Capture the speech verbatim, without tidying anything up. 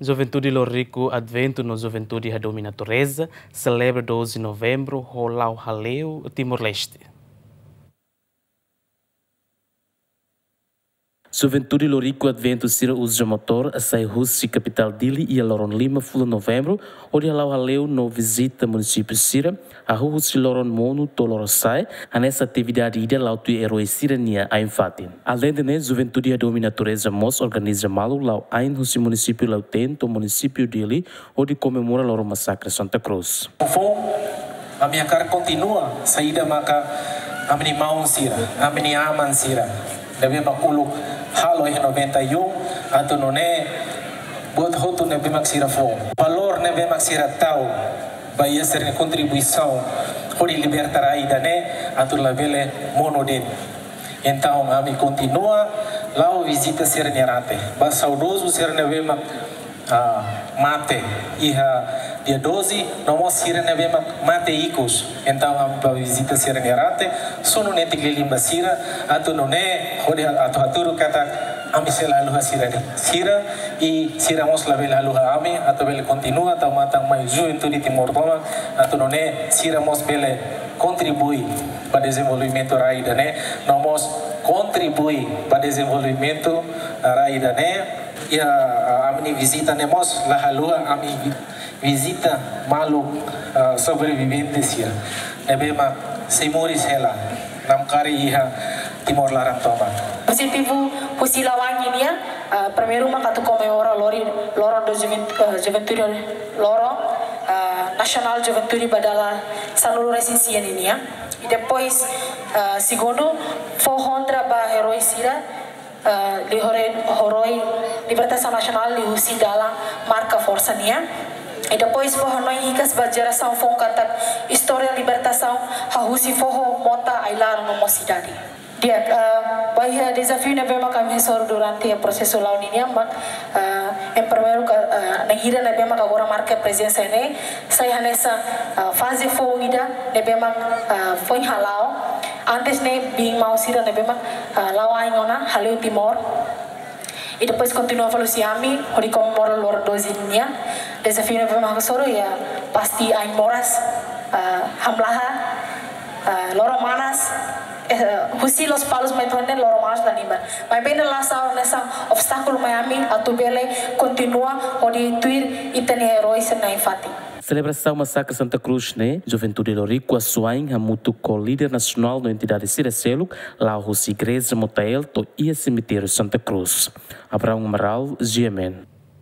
Juventude Loriku Adventu no Juventude Hadomi Natureza selebra doze Novembru ho la'o hale'u Timor-Leste. Juventude Loriku Adventu sira uza motór sai husi kapitál Dili iha loron lima fulan Novembru, hodi hala'o hale'u no vizita munisípiu sira, hahú husi loron monu to'o loron sa'e, hanesan atividade ida la'o tuir eroi sira-nia ain-fatin. Aleinde ne'e, Juventude Hadomi Natureza mós organiza malu la'o ain husi munisípiu Lautém to'o munisípiu Dili, hodi komemora loron masakre Santa Cruz. Foun, ami hakarak kontinua saida maka ami-nia maun sira, ami-nia aman sira ne'ebé mak uluk halo iha noventa e um, atu nune'e buat hotu ne'ebé mak sira fó, valór ne'ebé mak sira tau ba iha sira-nia kontribuisaun hodi liberta rai ida-ne'e atu labele monu de'it. Entaun, ami kontinua la'o vizita sira-nia rate. Ba saudozu sira ne'ebé mak, ah, mate iha dia doze, no mós sira ne'ebé mak mate ikus. Entaun, ami bá vizita sira-nia rate, sunu netik lilin ba sira, atu nune'e, hodi atu hatudu katak ami sei la haluha sira de'it. Sira, i sira mós labele haluha ami, atu bele kontinua tau matan mai juventude Timor tomak, atu nune'e sira mós bele kontribui ba dezenvolvimentu rai ida-ne'e, no mós kontribui ba dezenvolvimentu rai ida-ne'e. Iha, ah, ami-nia vizita ne'e mós la haluha ami vi-, vizita maluk, ah, sobrevivente sira ne'ebé mak sei moris hela namkari iha Timor laran tomak. Objetivu husi la'o ain nian, ah, primeiru mak atu komemora lori, loron do juven-, ah, juventude, loron, ah, nasionál juventude ba dala sanulu-resin-sia nian. I depois, ah, segundu, fó honra ba eroi sira, ah, liuhosi, horoi libertasaun nasionál liuhusi dalan marka forsa nian. I depois fó hanoin hikas ba jerasaun foun katak istória libertasaun hahú husi foho, mota, ai-laran no mós sidade. Di'ak, ah, ba iha dezafiu ne'ebé mak ami hasoru durante prosesu la'o nian mak, ah, em primeiru ka, ah, na'in hira ne'ebé mak agora marka prezensa ne'e, sai hanesan, ah, faze foun ida ne'ebé mak, ah, foin hala'o. Antes ne'e biin maun sira ne'ebé mak, ah, la'o ain ona hale'u Timor. I depois kontinua fali husi ami, hodi komemora loron doze nian. Dezafiu ne'ebé mak hasoru iha pasti ain moras, ah, hamlaha, ah, loron manas, eh, husi Lospalos mai to'o ne'e loron manas la liman. Maibé ne'e la sai hanesan obstákulu mai ami atu bele kontinua hodi tuir ita-nia eroi sira-nia ain-fatin. Selebrasaun masakre Santa Cruz ne'e, Juventude Loriku Asuain hamutuk ho líder nasionál no entidade sira seluk, la'o husi Igreja Motael to'o iha semitériu Santa Cruz. Abraão Amaral, G M N.